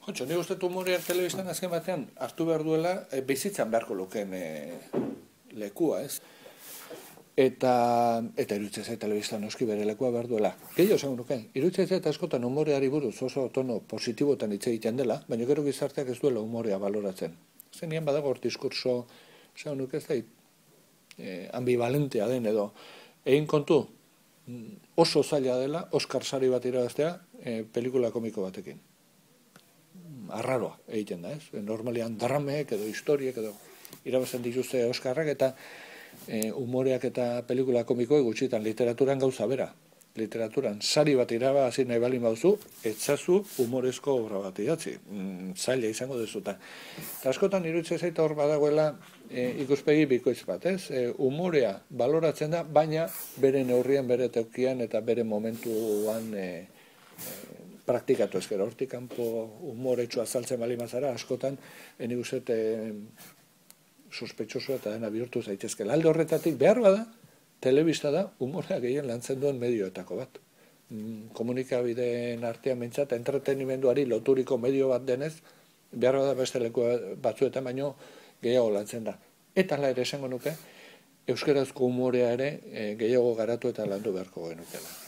Jontxo, ni uste humoreak telebistan azken batean hartu behar duela bizitzan beharko lukeen lekua, ez? Eta iruditzen zait telebistan noski bere lekua behar duela. Gehiago esango nuke, iruditzen zait askotan humoreari buruz oso tono positibotan hitz egiten dela, baina gero gizarteak ez duela humorea baloratzen. Zenean badago hor diskurso, esango nuke ez da, ambivalentea den edo. Egin kontu, oso zaila dela, Oscar sari bat irabaztea, pelikula komiko batekin. Arraroa egiten da, ez? Normalean dramek edo historiek edo irabazten dituzte Oskarrak eta humoreak eta pelikula komikoek gutxitan literaturan gauza bera. Literaturan sari bat irabazi nahi balin bauzu, etzazu humorezko obra bat idatzi. Zaila izango dezuta. Eta askotan iruditzen zait hor badagoela ikuspegi bikoitz bat, ez? Humorea baloratzen da, baina bere neurrian, bere tokian eta bere momentuan praktikatu ezkero, hortik kanpo humoretsua azaltzen bali mazara, askotan, nik uste sospetxosoa eta dena bihurtu zaitezkela. Alde horretatik behar bada, telebista da, humorea gehien lantzen duen medioetako bat. Komunikabideen artean mentzat, entretenimenduari loturiko medio bat denez, behar bada beste leku batzuetan baino gehiago lantzen da. Eta hala ere esango nuke, euskarazko humorea ere gehiago garatu eta landu beharko genukela.